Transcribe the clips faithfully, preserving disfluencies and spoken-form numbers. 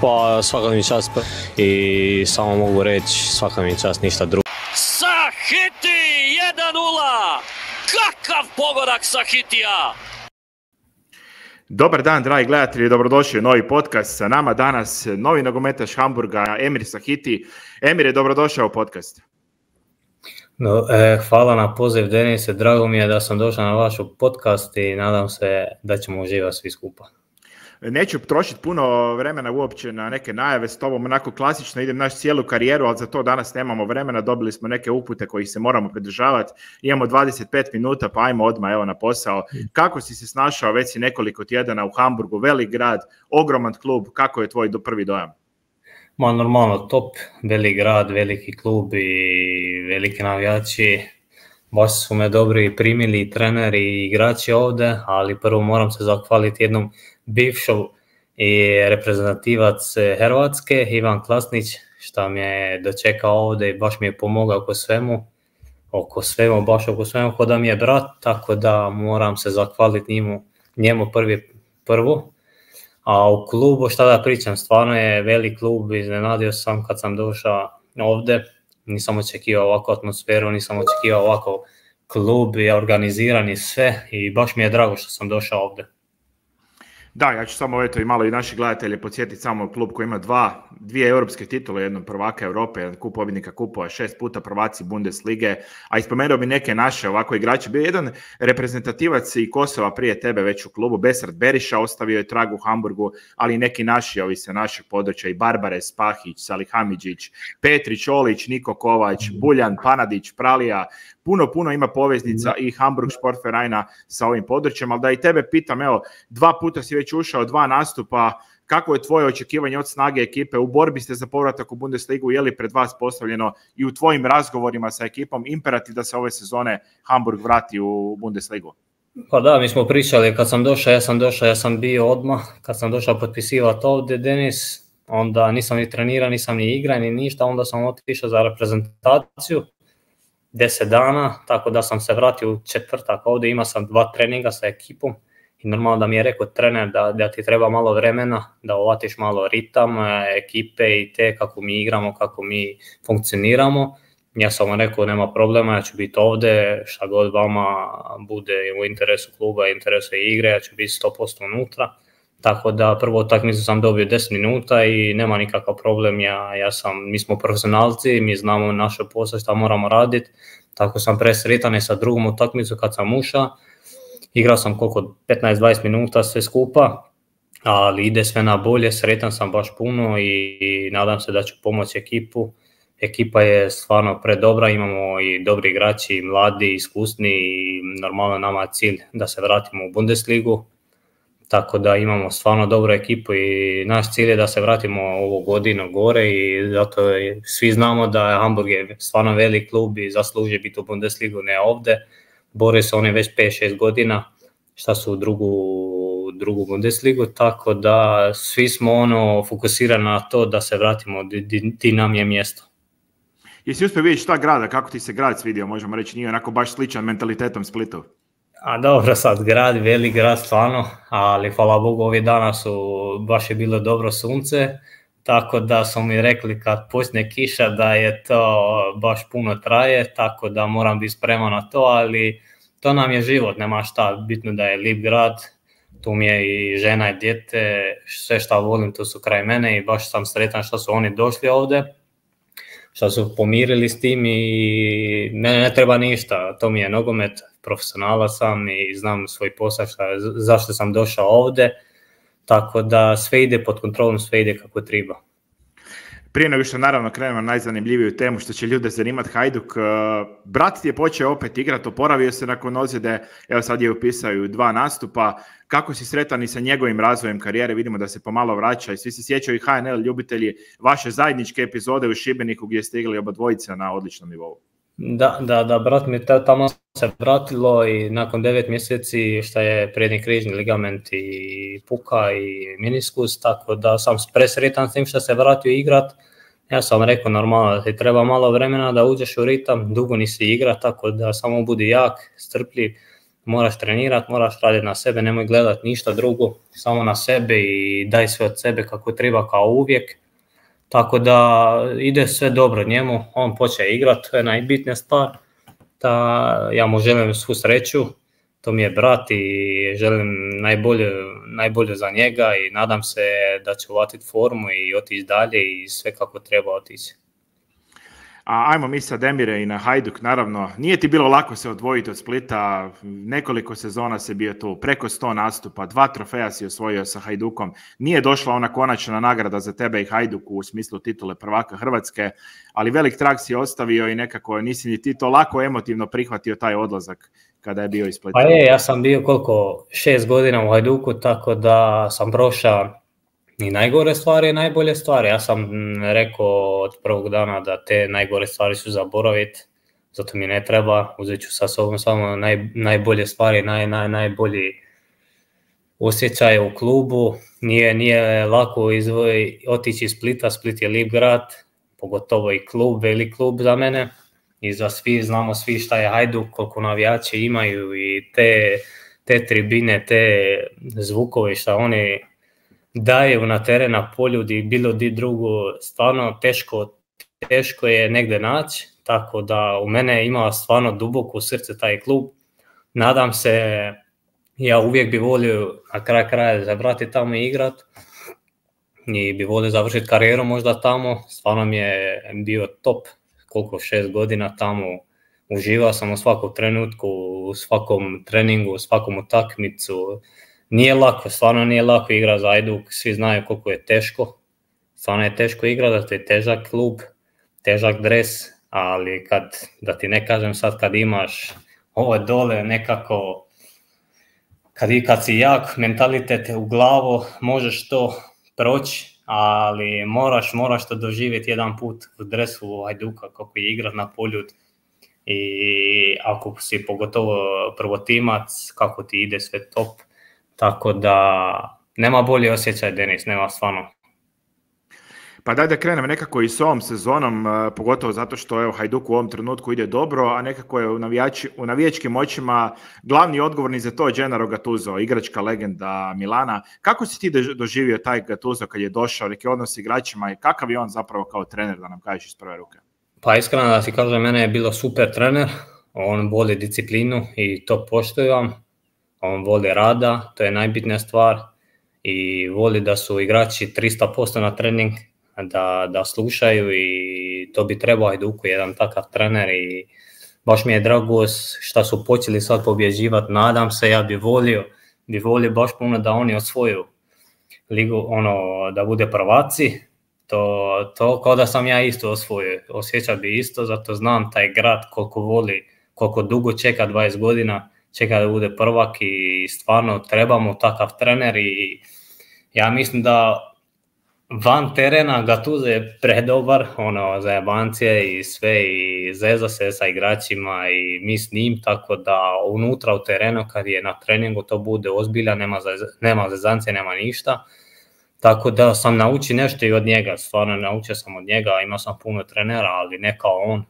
Pa svaka mi čast i samo mogu reći svaka mi čast, ništa drugo. Sahiti jedan nula! Kakav pogodak Sahitija! Dobar dan, dragi gledatelji, dobrodošli u novi podcast. Sa nama danas novi nogometaš Hamburga, Emir Sahiti. Emir, dobrodošao u podcast. No, eh, hvala na poziv, Denise. Drago mi je da sam došao na vaš podcast i nadam se da ćemo uživati svi skupa. Neću trošiti puno vremena uopće na neke najave s tobom, onako klasično idem naš cijelu karijeru, ali za to danas nemamo vremena, dobili smo neke upute kojih se moramo pridržavati, imamo dvadeset pet minuta, pa ajmo odmah evo na posao. Kako si se snašao, već si nekoliko tjedana u Hamburgu, velik grad, ogroman klub, kako je tvoj do prvi dojam? Ma normalno, top, velik grad, veliki klub i veliki navijači, baš su me dobri primili i treneri i igrači ovdje, ali prvo moram se zahvaliti jednom bivšom i reprezentativac Hrvatske, Ivan Klasnić, što mi je dočekao ovdje i baš mi je pomogao oko svemu, oko svemu, baš oko svemu, kod da mi je brat, tako da moram se zahvaliti njemu, njemu prvi, prvo. A u klubu, šta da pričam, stvarno je velik klub, iznenadio sam kad sam došao ovdje, nisam očekivao ovakvu atmosferu, nisam očekivao ovako klub i organiziran i sve i baš mi je drago što sam došao ovdje. Da, ja ću samo eto i malo i naši gledatelje podsjetiti samo klub koji ima dva, dvije europske titule, jednom prvaka Europe, jedan kup pobjednika kupova, šest puta prvaci Bundeslige, a ispomenuo bi neke naše ovako igrače. Bio jedan reprezentativac i Kosova prije tebe već u klubu, Besart Beriša, ostavio je trag u Hamburgu, ali i neki naši, ovi sa našeg područja, i Barbares, Pahić, Salihamiđić, Petrić, Olić, Niko Kovač, Buljan, Panadić, Pralija. Puno, puno ima poveznica i Hamburg Sportvereina sa ovim područjem, ali da i tebe pitam, evo, dva puta si već ušao, dva nastupa, kako je tvoje očekivanje od snage ekipe, u borbi ste za povratak u Bundesligu, je li pred vas postavljeno i u tvojim razgovorima sa ekipom imperativ da se ove sezone Hamburg vrati u Bundesligu? Pa da, mi smo pričali, kad sam došao, ja sam došao, ja sam bio odmah, kad sam došao potpisivati ovdje, Denis, onda nisam ni trenirao, nisam ni igrao, ni ništa, onda sam otišao za reprezentaciju, deset dana, tako da sam se vratio u četvrtak ovdje, imao sam dva treninga sa ekipom i normalno da mi je rekao trener da, da ti treba malo vremena, da uvatiš malo ritam ekipe i te kako mi igramo, kako mi funkcioniramo. Ja sam vam rekao nema problema, ja ću biti ovdje, šta god vama bude u interesu kluba, interesu igre, ja ću biti sto posto unutra. Tako da prvo utakmicu sam dobio deset minuta i nema nikakav problem, ja, ja sam, mi smo profesionalci, mi znamo naše posao što moramo raditi, tako sam presretan i sa drugom utakmicu kad sam ušao, igrao sam koliko petnaest dvadeset minuta sve skupa, ali ide sve na bolje, sretan sam baš puno i, i nadam se da ću pomoći ekipu. Ekipa je stvarno predobra, imamo i dobri igrači, mladi, iskusni i normalno nama je cilj da se vratimo u Bundesligu. Tako da imamo stvarno dobru ekipu i naš cilj je da se vratimo ovu godinu gore i zato je, svi znamo da Hamburg je stvarno velik klub i zasluži biti u Bundesligu, ne ovdje. Bore se oni već pet šest godina šta su u drugu, drugu Bundesligu, tako da svi smo ono fokusirani na to da se vratimo di, di, di nam je mjesto. Jesi uspio vidjeti šta grada, kako ti se grad svidio, možemo reći, nije onako baš sličan mentalitetom Splitu? A dobro, sad grad, velik grad stvarno, ali hvala Bogu ovih dana su, baš je bilo dobro sunce, tako da su mi rekli kad počne kiša da je to baš puno traje, tako da moram biti spreman na to, ali to nam je život, nema šta, bitno da je lijep grad, tu mi je i žena i dijete, sve što volim tu su kraj mene i baš sam sretan što su oni došli ovdje, što su pomirili s tim i mene ne treba ništa, to mi je nogomet, profesionalac sam i znam svoj posao šta, zašto sam došao ovdje, tako da sve ide pod kontrolom, sve ide kako treba. Prije nego što naravno krenemo na najzanimljiviju temu što će ljude zanimati, Hajduk, brat ti je počeo opet igrati, oporavio se nakon ozljede, evo sad je upisao i dva nastupa. Kako si sretan i sa njegovim razvojem karijere, vidimo da se pomalo vraća i svi se sjećaju i H N L ljubitelji vaše zajedničke epizode u Šibeniku gdje ste igrali oba dvojica na odličnom nivou. Da, da, da, brat mi tamo se vratilo i nakon devet mjeseci što je prednji križni ligament i puka i meniskus, tako da sam presretan s tim što se vratio igrat. Ja sam rekao normalno da ti treba malo vremena da uđeš u ritam, dugo nisi igra, tako da samo budi jak, strpljiv, moraš trenirati, moraš raditi na sebe, nemoj gledati ništa drugo, samo na sebe i daj sve od sebe kako treba kao uvijek. Tako da ide sve dobro njemu, on počne igrati, to je najbitnija stvar. Da, ja mu želim svu sreću, to mi je brat i želim najbolje, najbolje za njega i nadam se da će uvatiti formu i otići dalje i sve kako treba otići. A ajmo mi sad, Emire, i na Hajduk, naravno. Nije ti bilo lako se odvojiti od Splita, nekoliko sezona si bio tu, preko sto nastupa, dva trofeja si osvojio sa Hajdukom. Nije došla ona konačna nagrada za tebe i Hajduku u smislu titule prvaka Hrvatske, ali velik trag si ostavio i nekako nisi ni ti to lako emotivno prihvatio taj odlazak kada je bio iz Splita. Pa je, ja sam bio koliko, šest godina u Hajduku, tako da sam prošao i najgore stvari i najbolje stvari. Ja sam rekao od prvog dana da te najgore stvari su zaboraviti, zato mi ne treba, uzet ću sa sobom samo naj, najbolje stvari, naj, naj, najbolji osjećaj u klubu. Nije, nije lako izvoj, otići iz Splita, Split je lijep grad, pogotovo i klub, velik klub za mene. I za svi, znamo svi šta je Hajduk, koliko navijači imaju i te, te tribine, te zvukove šta oni daju na teren, na polju i bilo di drugo, stvarno teško, teško je negdje naći, tako da u mene ima stvarno duboko u srce taj klub. Nadam se, ja uvijek bi volio na kraj kraja zavrati tamo i igrat i bi volio završiti karijeru možda tamo, stvarno mi je bio top, koliko šest godina tamo, uživao sam u svakom trenutku, u svakom treningu, u svakom utakmicu. Nije lako, stvarno nije lako igrati za Hajduk, svi znaju koliko je teško, stvarno je teško igrati, to je težak klub, težak dres, ali kad, da ti ne kažem sad kad imaš ovo dole nekako, kad, kad si jak, mentalitet u glavu, možeš to proći, ali moraš, moraš to doživjeti jedan put u dresu Hajduka, kako je igrat na polju i ako si pogotovo prvotimac, kako ti ide sve top. Tako da nema bolji osjećaj, Denis, nema stvarno. Pa daj da krenem nekako i s ovom sezonom, pogotovo zato što evo, Hajduk u ovom trenutku ide dobro, a nekako je u, navijači, u navijačkim očima glavni odgovorni za to Gennaro Gattuso, igračka legenda Milana. Kako si ti doživio taj Gattuso kad je došao, neki odnos s igračima i kakav je on zapravo kao trener, da nam kažeš iz prve ruke? Pa iskreno da ti kažem, mene je bilo super trener, on voli disciplinu i to poštujem. On voli rada, to je najbitnija stvar i voli da su igrači tristo posto na trening, da, da slušaju i to bi trebao Hajduku jedan takav trener i baš mi je drago što su počeli sad pobjeđivati, nadam se, ja bi volio, bi volio baš puno da oni osvoju ligu, ono, da bude prvaci, to, to kao da sam ja isto osvojio, osjećao bi isto, zato znam taj grad koliko voli, koliko dugo čeka dvadeset godina, čeka da bude prvak i stvarno trebamo takav trener i ja mislim da van terena Gattuso je predobar, ono, za jebancije i sve i zeza se sa igračima i mi s njim, tako da unutra u terenu kad je na treningu to bude ozbilja, nema, nema zezancije, nema ništa. Tako da sam naučio nešto i od njega, stvarno naučio sam od njega, imao sam puno trenera, ali ne kao on.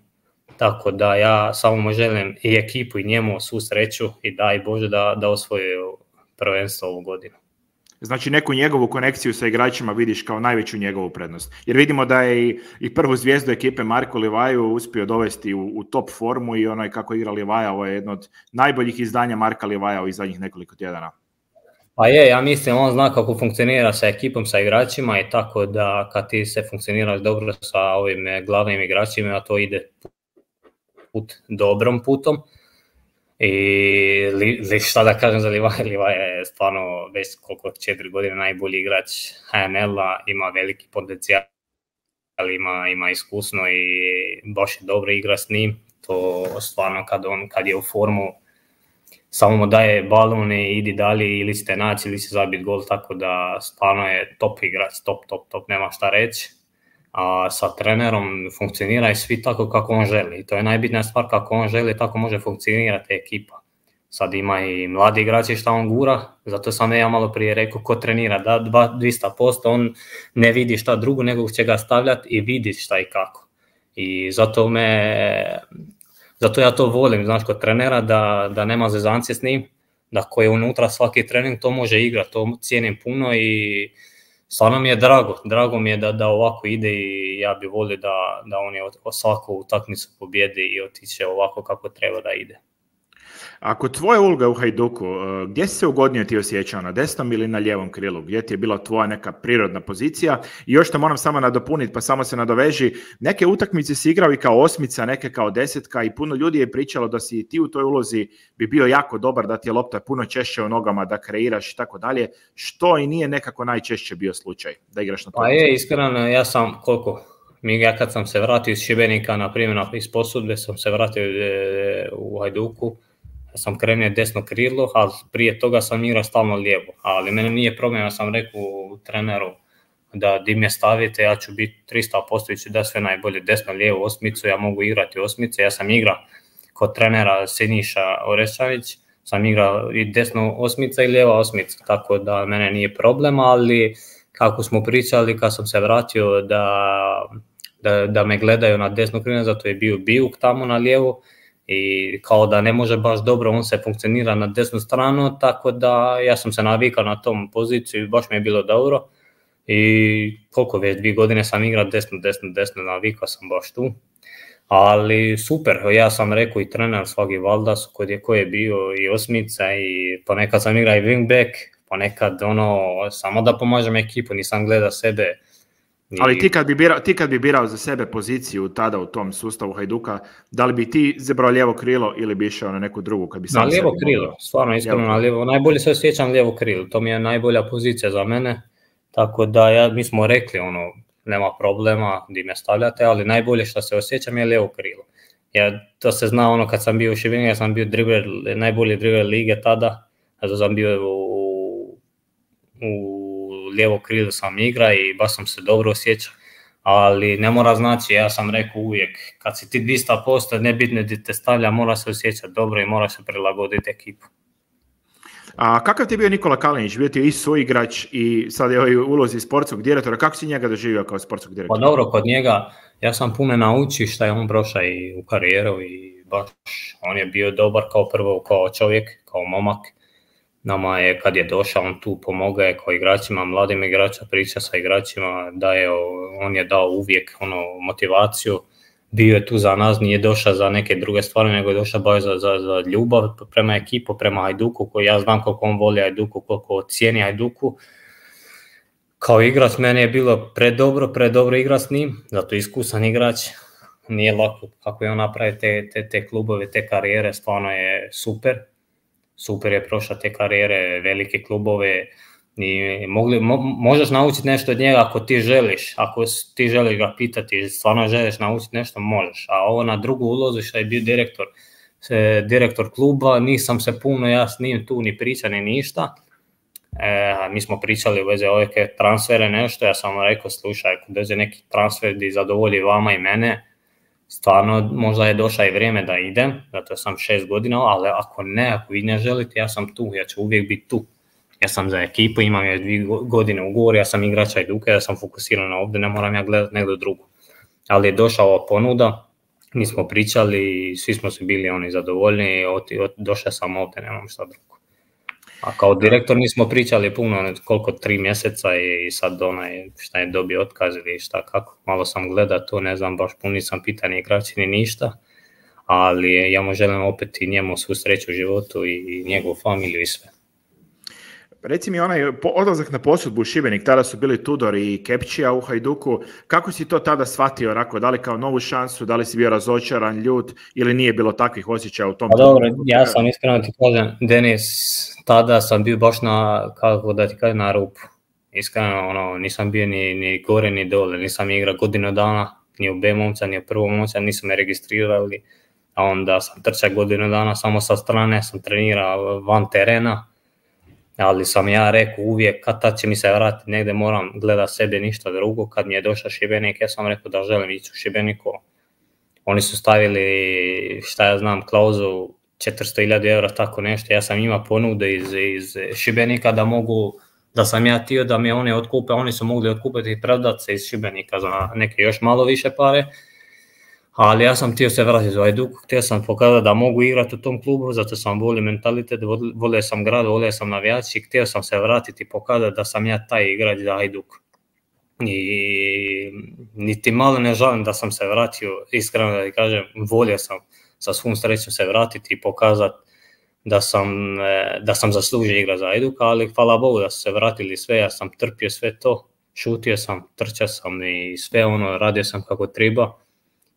Tako da ja samo mu želim i ekipu i njemu svu sreću i daj Bože da, da osvoju prvenstvo ovu godinu. Znači neku njegovu konekciju sa igračima vidiš kao najveću njegovu prednost. Jer vidimo da je i, i prvu zvijezdu ekipe Marko Livaju uspio dovesti u, u top formu i onaj kako igra Livaja, ovo je jedno od najboljih izdanja Marka Livaja u zadnjih nekoliko tjedana. Pa je, ja mislim on zna kako funkcionira sa ekipom, sa igračima i tako da kad ti se funkcioniraš dobro sa ovim glavnim igračima, to ide put dobrom putom. I li, šta da kažem za Livaja, Livaja je stvarno već koliko četiri godine najbolji igrač H N L-a, ima veliki potencijal, ima, ima iskusno i baš je dobro igra s njim. To stvarno kad, on, kad je u formu, samo mu daje balon i idi dalje ili ćete naći ili će zabiti gol, tako da stvarno je top igrač, top, top, top, nema šta reći. A sa trenerom funkcionira i svi tako kako on želi. I to je najbitnija stvar, kako on želi, tako može funkcionirati ekipa. Sad ima i mladi igrači šta on gura, zato sam ja malo prije rekao ko trenira da dvjesto posto, on ne vidi šta drugo nego će ga stavljati i vidi šta i kako. I zato me, zato ja to volim, znaš, kod trenera da, da nema zezancije s njim, da ko je unutra svaki trening to može igrati, to cijenim puno i stvarno mi je drago, drago mi je da, da ovako ide i ja bi volio da, da oni svaku utakmicu pobjedi i otiče ovako kako treba da ide. Ako tvoja uloga u Hajduku, gdje si se ugodnije ti osjećao, na desnom ili na lijevom krilu? Gdje ti je bila tvoja neka prirodna pozicija? I još to moram samo nadopuniti, pa samo se nadoveži. Neke utakmice si igrao i kao osmica, neke kao desetka i puno ljudi je pričalo da si ti u toj ulozi bi bio jako dobar, da ti je lopta puno češće u nogama, da kreiraš i tako dalje. Što i nije nekako najčešće bio slučaj da igraš na toj. Pa je, iskreno, ja sam koliko... Mi ja kad sam se vratio iz Šibenika, na primjer iz posudbe, sam se vratio u Hajduku, sam krenuo desno krilo, ali prije toga sam igrao stalno lijevo. Ali mene nije problem, ja sam rekao treneru da di me stavite, ja ću biti tristo posto ću da sve najbolje desno, lijevo, osmicu, ja mogu igrati osmice. Ja sam igrao kod trenera Siniša Orešanić, sam igrao i desno osmica i lijeva osmica, tako da mene nije problem, ali kako smo pričali kad sam se vratio da, da, da me gledaju na desno krilo, zato je bio Bijuk tamo na lijevo, i kao da ne može baš dobro, on se funkcionira na desnu stranu, tako da ja sam se navikao na tom poziciju i baš mi je bilo dobro. I koliko već, dvije godine sam igrao desno, desno, desno, navikao sam baš tu. Ali super, ja sam rekao i trener svaki Valdas koji je, koji je bio i osmica i ponekad sam igrao i wingback, ponekad ono, samo da pomažem ekipu, nisam gledao sebe. I... Ali ti kad, bi birao, ti kad bi birao za sebe poziciju tada u tom sustavu Hajduka, da li bi ti izabrao lijevo krilo ili bi išao na neku drugu? Kad bi sam na lijevo krilo, mogao... stvarno iskreno na lijevo. Najbolje se osjećam lijevo krilo, to mi je najbolja pozicija za mene. Tako da ja, mi smo rekli, ono, nema problema di me stavljate, ali najbolje što se osjećam je lijevo krilo. Ja, to se zna ono kad sam bio u Šibeniku, ja sam bio dribler, najbolji dribler lige tada, zato sam bio u, u lijevo krilo sam igra i baš sam se dobro osjećao, ali ne mora znači, ja sam rekao uvijek, kad si ti dvjesto posto, nebitno di te stavlja, mora se osjećati dobro i mora se prilagoditi ekipu. A kakav ti je bio Nikola Kalinić? Bio ti je i suigrač i sad je u ulozi sportskog direktora. Kako si njega doživio kao sportskog direktora? Pa dobro, kod njega ja sam puno naučio šta je on prošao i u karijeru i baš on je bio dobar kao prvo kao čovjek, kao momak. Nama je kad je došao on tu pomogao je kao igračima, mladim igračima, priča sa igračima, da je, on je dao uvijek ono, motivaciju. Bio je tu za nas, nije došao za neke druge stvari, nego je došao baš za, za, za ljubav prema ekipu, prema Hajduku, koji ja znam koliko on voli Hajduku, koliko cijeni Hajduku. Kao igrač meni je bilo predobro, predobro igrati s njim, zato iskusan igrač, nije lako kako je on napravio te, te, te klubove, te karijere, stvarno je super. Super je prošao te karijere, velike klubove. I mogli, mo, možeš naučiti nešto od njega ako ti želiš, ako ti želiš ga pitati, stvarno želiš naučiti nešto, možeš. A ovo na drugu ulozu što je bio direktor, direktor kluba, nisam se puno ja s njim tu ni pričao ni ništa. E, mi smo pričali u vezi ove transfere nešto, ja sam rekao slušaj, ako dođe neki transfer di zadovolji vama i mene, stvarno možda je došlo i vrijeme da idem, zato sam šest godina, ali ako ne, ako vi ne želite, ja sam tu, ja ću uvijek biti tu. Ja sam za ekipu, imam još dvije godine ugovor, ja sam igrač Hajduka, ja sam fokusiran na ovdje, ne moram ja gledati negdje drugo. Ali je došla ova ponuda, mi smo pričali, svi smo se bili oni zadovoljni, došao sam ovdje, nemam šta drugo. A kao direktor nismo pričali puno, koliko tri mjeseca i sad onaj šta je dobio otkaz ili šta kako. Malo sam gledao to, ne znam, baš puno nisam pitani igrači ni ništa, ali ja mu želim opet i njemu svu sreću u životu i njegovu familiju i sve. Reci mi onaj odlazak na posudbu u Šibenik, tada su bili Tudor i Kepčija u Hajduku, kako si to tada shvatio, Rako, da li kao novu šansu, da li si bio razočaran, ljut ili nije bilo takvih osjećaja u tom? Pa dobro, ja sam iskreno ti kažem, Denis, tada sam bio baš na, kako da ti kažem, na rupu. Iskreno, ono, nisam bio ni, ni gore ni dole, nisam igrao godinu dana, ni u B momca, ni u prvom momca, nisam me registrirali, a onda sam trčao godinu dana samo sa strane, sam trenirao van terena. Ali sam ja rekao uvijek kad tad će mi se vratiti negdje, moram gledati sebe ništa drugo. Kad mi je došao Šibenik, ja sam rekao da želim ići u Šibeniku. Oni su stavili, šta ja znam, klauzu četiristo hiljada eura, tako nešto. Ja sam imao ponude iz, iz Šibenika da mogu, da sam ja htio da mi oni otkupe, oni su mogli otkupiti i predati se iz Šibenika za neke još malo više pare. Ali ja sam htio se vratiti u Hajduk, htio sam pokazati da mogu igrati u tom klubu, zato sam volio mentalitet, volio sam grad, volio sam navijači i htio sam se vratiti i pokazati da sam ja taj igrač za Hajduk. I niti malo ne žalim da sam se vratio, iskreno da kažem, volio sam sa svom srećom se vratiti i pokazati da sam, da sam zaslužio igrati za Hajduk, ali hvala Bogu da su se vratili sve, ja sam trpio sve to, šutio sam, trčao sam i sve ono, radio sam kako treba.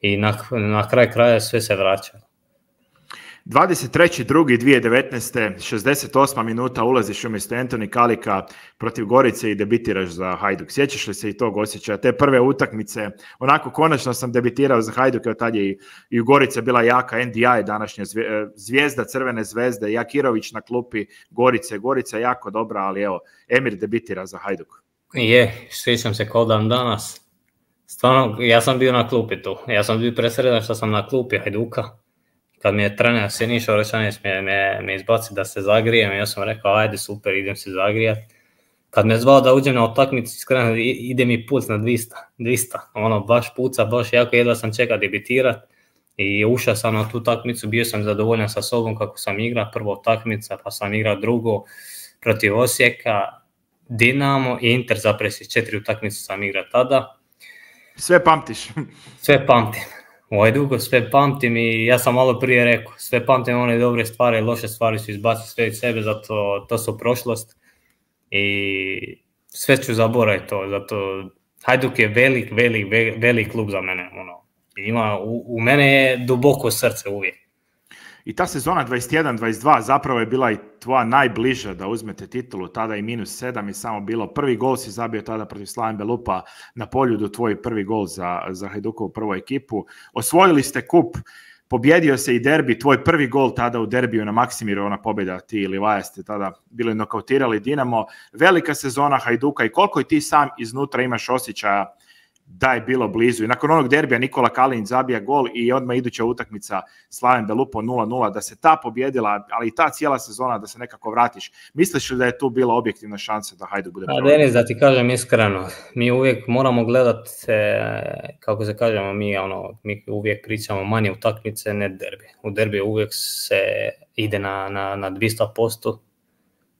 I na, na kraj kraja sve se vraća. dvadeset treći drugi dvije tisuće devetnaeste. šezdeset osma minuta ulaziš umjesto Antoni Kalika protiv Gorice i debitiraš za Hajduk. Sjećaš li se i tog osjećaja? Te prve utakmice, onako konačno sam debitirao za Hajduk, jer tad je i, i u Gorice bila jaka, N D I današnja zvijezda Crvene zvezde, Jakirović na klupi Gorice, Gorica jako dobra, ali evo, Emir debitira za Hajduk. Je, sjećam se kao dan danas. Stvarno, ja sam bio na klupi tu. Ja sam bio presredan što sam na klupi Hajduka. Kad mi je trener Siniša Orešanić me, me, me izbaci da se zagrijem, ja sam rekao, ajde super, idem se zagrijati. Kad me zvao da uđem na utakmicu, iskreno ide mi puc na dvista, dvista. Ono, baš puca, baš jako jedva sam čekao debitirat. I ušao sam na tu utakmicu, bio sam zadovoljan sa sobom kako sam igrao, prvo utakmica, pa sam igrao drugo protiv Osijeka, Dinamo i Inter Zapresić, četiri utakmice sam igrao tada. Sve pamtiš? Sve pamtim. U Hajduku sve pamtim i ja sam malo prije rekao, sve pamtim one dobre stvari, loše stvari su izbaciti sve iz sebe, zato to su prošlost i sve ću zaboraviti to, zato Hajduk je velik, velik, velik klub za mene. Ono. Ima, u, u mene je duboko srce uvijek. I ta sezona dvadeset jedan dvadeset dva zapravo je bila i tvoja najbliža da uzmete titulu, tada i minus sedam je samo bilo. Prvi gol si zabio tada protiv Slaven Belupa na Poljudu, tvoj prvi gol za, za Hajdukovu prvu ekipu. Osvojili ste kup, pobjedio se i derbi, tvoj prvi gol tada u derbiju na Maksimiru, ona pobjeda, ti i Livaja ste tada bili nokautirali Dinamo. Velika sezona Hajduka i koliko i ti sam iznutra imaš osjećaja da je bilo blizu. I nakon onog derbija Nikola Kalinić zabija gol i odmah iduća utakmica Slaven Belupo nula nula, da se ta pobjedila, ali i ta cijela sezona da se nekako vratiš. Misliš li da je tu bila objektivna šansa da Hajduk bude prvi? Denis, da ti kažem iskreno, mi uvijek moramo gledati, kako se kažemo, mi, ono, mi uvijek pričamo manje utakmice, ne derbi. U derbi uvijek se ide na, na, na dvjesto posto.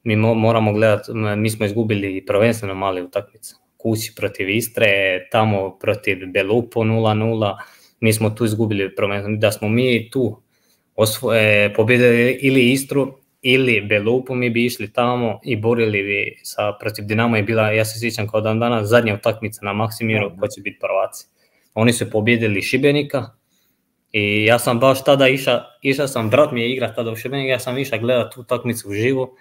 Mi mo, moramo gledati, mi smo izgubili prvenstveno male utakmice. Kući protiv Istre, tamo protiv Belupo nula nula, mi smo tu izgubili prvenstveno. Da smo mi tu osvoje, pobjedili ili Istru ili Belupo, mi bi išli tamo i borili bi sa, protiv Dinamo je bila, ja se sjećam kao dan danas, zadnja utakmica na Maksimiru ko će biti prvaci. Oni su pobjedili Šibenika i ja sam baš tada išao, išao sam, brat mi je igra tada u Šibenika, ja sam išao gledati tu utakmicu uživo.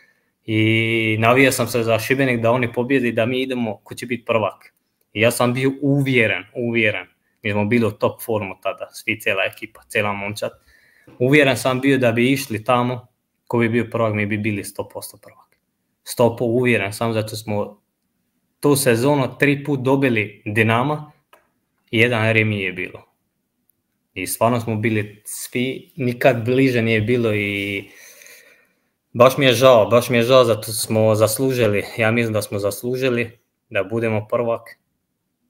I navijao sam se za Šibenik da oni pobjedi, da mi idemo ko će biti prvak. I ja sam bio uvjeren, uvjeren. Mi smo bili u top formu tada, svi, cijela ekipa, cijela momčad. Uvjeren sam bio da bi išli tamo, ko bi bio prvak, mi bi bili sto posto prvak. sto posto uvjeren sam, zato smo tu sezonu tri put dobili Dinama i jedan remi je bilo. I stvarno smo bili svi, nikad bliže nije bilo i baš mi je žao, baš mi je žao, zato smo zaslužili, ja mislim da smo zaslužili da budemo prvak,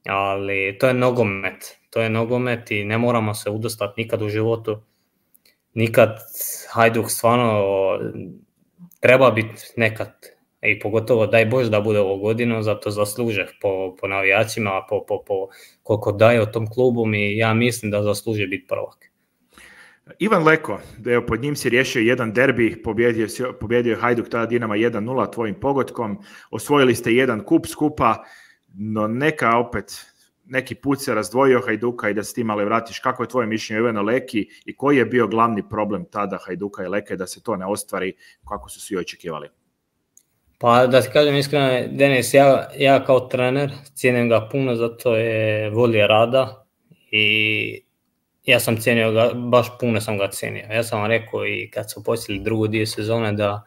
ali to je nogomet, to je nogomet i ne moramo se udostati nikad u životu, nikad Hajduk stvarno treba biti nekad i pogotovo daj Bože da bude ovo godinu, zato zasluže po, po navijačima, po, po, po koliko daje o tom klubu i ja mislim da zasluže biti prvak. Ivan Leko, evo, pod njim si riješio jedan derbi, pobjedio, pobjedio Hajduk tada Dinama jedan nula tvojim pogodkom, osvojili ste jedan kup skupa, no neka opet, neki put se razdvojio Hajduka i da s tim ali vratiš. Kako je tvoje mišljenje o Ivanu Leki i koji je bio glavni problem tada Hajduka i Leke da se to ne ostvari kako su svi očekivali? Pa da ti kažem iskreno, Denis, ja, ja kao trener cijenim ga puno, zato je volje rada i ja sam cijenio ga, baš puno sam ga cijenio. Ja sam vam rekao i kad su počeli drugu dio sezone da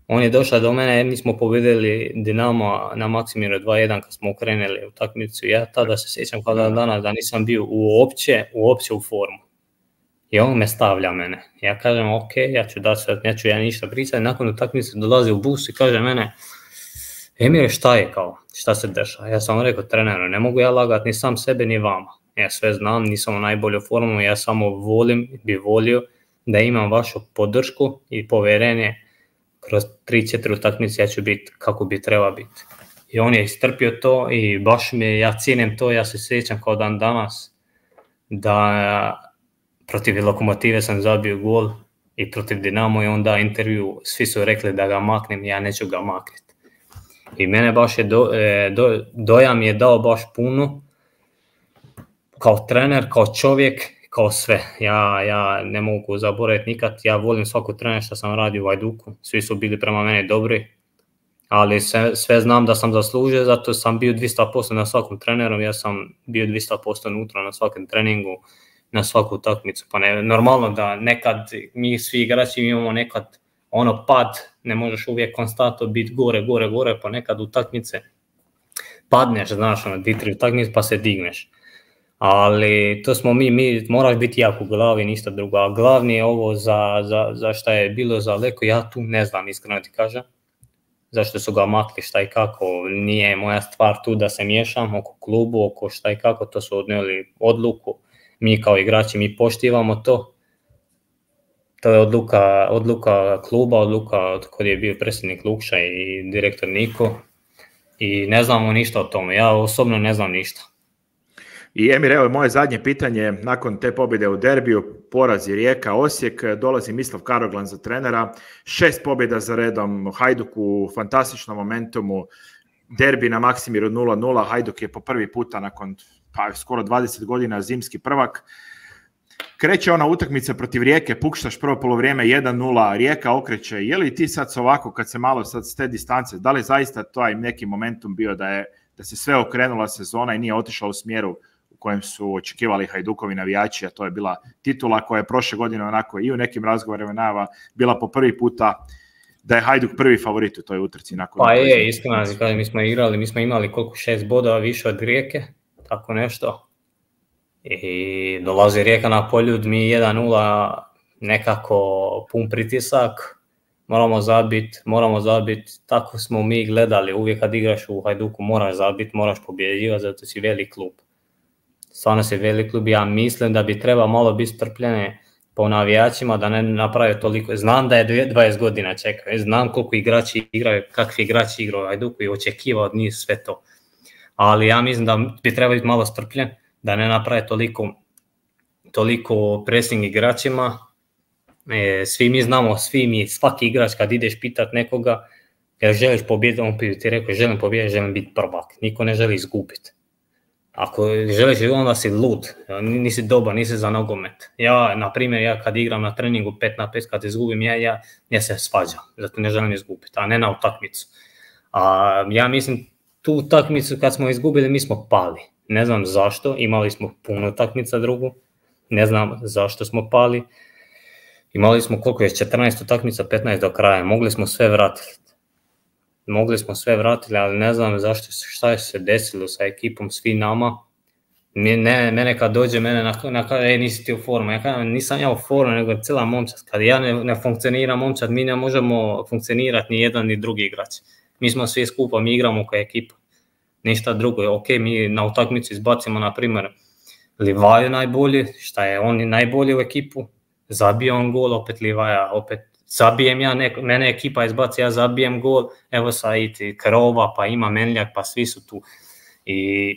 on je došao do mene, mi smo pobjedili Dinamo na Maksimiru dva jedan kad smo ukrenuli utakmicu. Ja tada se sjećam kao dan danas da nisam bio uopće, uopće u formu. I on me stavlja mene. Ja kažem ok, ja ću dati sve, neću ja ništa pričati. Nakon utakmice dolazi u bus i kaže mene, Emir, šta je kao, šta se dešava? Ja sam rekao treneru, ne mogu ja lagati ni sam sebe ni vama. ja sve znam, nisam u najbolju formu, ja samo volim, bi volio da imam vašu podršku i povjerenje kroz tri četiri utakmice ja ću biti kako bi treba biti. I on je istrpio to i baš mi je, ja cijenim to, ja se sjećam kao dan danas da protiv Lokomotive sam zabio gol i protiv Dinamo i onda intervju, svi su rekli da ga maknem, ja neću ga makniti. I mene baš je, do, do, dojam je dao baš puno, kao trener, kao čovjek, kao sve. Ja, ja ne mogu zaboraviti nikad, ja volim svaku trener što sam radio u Hajduku, svi su bili prema meni dobri, ali sve, sve znam da sam zaslužio, zato sam bio dvjesto posto na svakom treneru, ja sam bio dvjesto posto unutra na svakom treningu, na svaku utakmicu. Pa ne, normalno da nekad mi svi igrači imamo nekad ono pad, ne možeš uvijek konstantno biti gore, gore, gore, pa nekad utakmice padneš, znaš, ono, dvi, tri utakmice pa se digneš. Ali to smo mi, mi moraš biti jak u glavi, ništa drugo. A glavni je ovo za, za, za šta je bilo za Leko, ja tu ne znam, iskreno ti kažem. Zašto su ga makli, šta i kako, nije moja stvar tu da se miješam oko klubu, oko šta i kako, to su odnijeli odluku. Mi kao igrači, mi poštivamo to. To je odluka, odluka kluba, odluka od kod je bio predsjednik Lukša i direktor Niko. I ne znamo ništa o tome, ja osobno ne znam ništa. I Emir, evo moje zadnje pitanje, nakon te pobjede u derbiju, porazi Rijeka, Osijek, dolazi Mislav Karoglan za trenera, šest pobjeda za redom, Hajduk u fantastičnom momentumu, derbi na Maksimiru nula nula, Hajduk je po prvi puta nakon pa, skoro dvadeset godina zimski prvak. Kreće ona utakmica protiv Rijeke, pukštaš prvo polovrijeme jedan nula, Rijeka okreće. Je li ti sad ovako, kad se malo sad s te distance, da li zaista to je neki momentum bio da, je, da se sve okrenula sezona i nije otišla u smjeru u kojem su očekivali Hajdukovi navijači, a to je bila titula koja je prošle godine onako i u nekim razgovorima najava bila po prvi puta da je Hajduk prvi favorit u toj utrci. Nakon pa je, iskreno, mi smo igrali, mi smo imali koliko šest bodova više od Rijeke, tako nešto. I dolazi Rijeka na Poljud, mi jedan nula nekako pun pritisak, moramo zabiti, moramo zabiti, tako smo mi gledali, uvijek kad igraš u Hajduku moraš zabiti, moraš pobjeđivati, zato si velik klub. Stvarno si velik klub, ja mislim da bi treba malo biti strpljene po navijačima da ne naprave toliko, znam da je dvadeset godina čekaju, znam koliko igrači igraju, kakvi igrači igraju u Hajduku i očekivao od njih sve to, ali ja mislim da bi treba biti malo strpljen, da ne naprave toliko, toliko pressing igračima. E, svi mi znamo, svi mi, svaki igrač kad ideš pitat nekoga, jer želiš pobijediti, on ti rekao želim pobijediti, želim biti prvak, niko ne želi izgubiti. Ako želiš, onda si lud, nisi dobar, nisi za nogomet. Ja, na primjer, ja kad igram na treningu pet na pet, kad izgubim, ja, ja, ja se svađam, zato ne želim izgubiti, a ne na utakmicu. A ja mislim, tu utakmicu kad smo izgubili, mi smo pali. Ne znam zašto, imali smo puno utakmica drugu, ne znam zašto smo pali. Imali smo koliko je, četrnaest utakmica, petnaest do kraja, mogli smo sve vratiti. Mogli smo sve vratiti, ali ne znam zašto, šta je se desilo sa ekipom, svi nama. Ne, mene kad dođe, mene na, na e, nisi ti u formu, ja kažem, nisam ja u formu, nego cijela momčad. Kad ja ne, ne funkcionira momčad, mi ne možemo funkcionirati ni jedan ni drugi igrač. Mi smo svi skupa, mi igramo kao ekipa. Ništa drugo, ok, mi na utakmicu izbacimo, na primjer, Livaju najbolji, šta je on najbolji u ekipu, zabije on gol, opet Livaja, opet zabijem ja, nek, mene ekipa izbaci, ja zabijem gol, evo sad i Krova, pa ima Menljak, pa svi su tu. I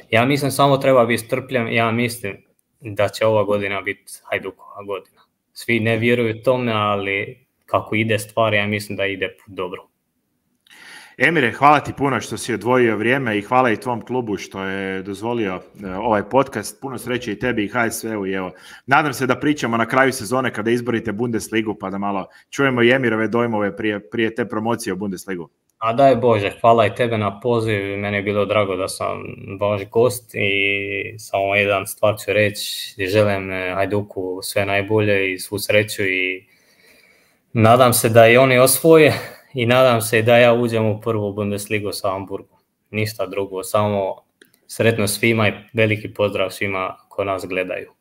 ja mislim samo treba biti strpljen, ja mislim da će ova godina biti Hajdukova godina. Svi ne vjeruju tome, ali kako ide stvar, ja mislim da ide dobro. Emire, hvala ti puno što si odvojio vrijeme i hvala i tvom klubu što je dozvolio ovaj podcast. Puno sreće i tebi i H S V-u. I evo, nadam se da pričamo na kraju sezone kada izborite Bundesligu pa da malo čujemo i Emirove dojmove prije, prije te promocije u Bundesligu. A daj Bože, hvala i tebe na poziv. Meni je bilo drago da sam vaš gost i samo jedan stvar ću reći. Želim Hajduku sve najbolje i svu sreću i nadam se da i oni osvoje. I nadam se da ja uđem u prvu Bundesligu sa Hamburgom. Ništa drugo, samo sretno svima i veliki pozdrav svima koji nas gledaju.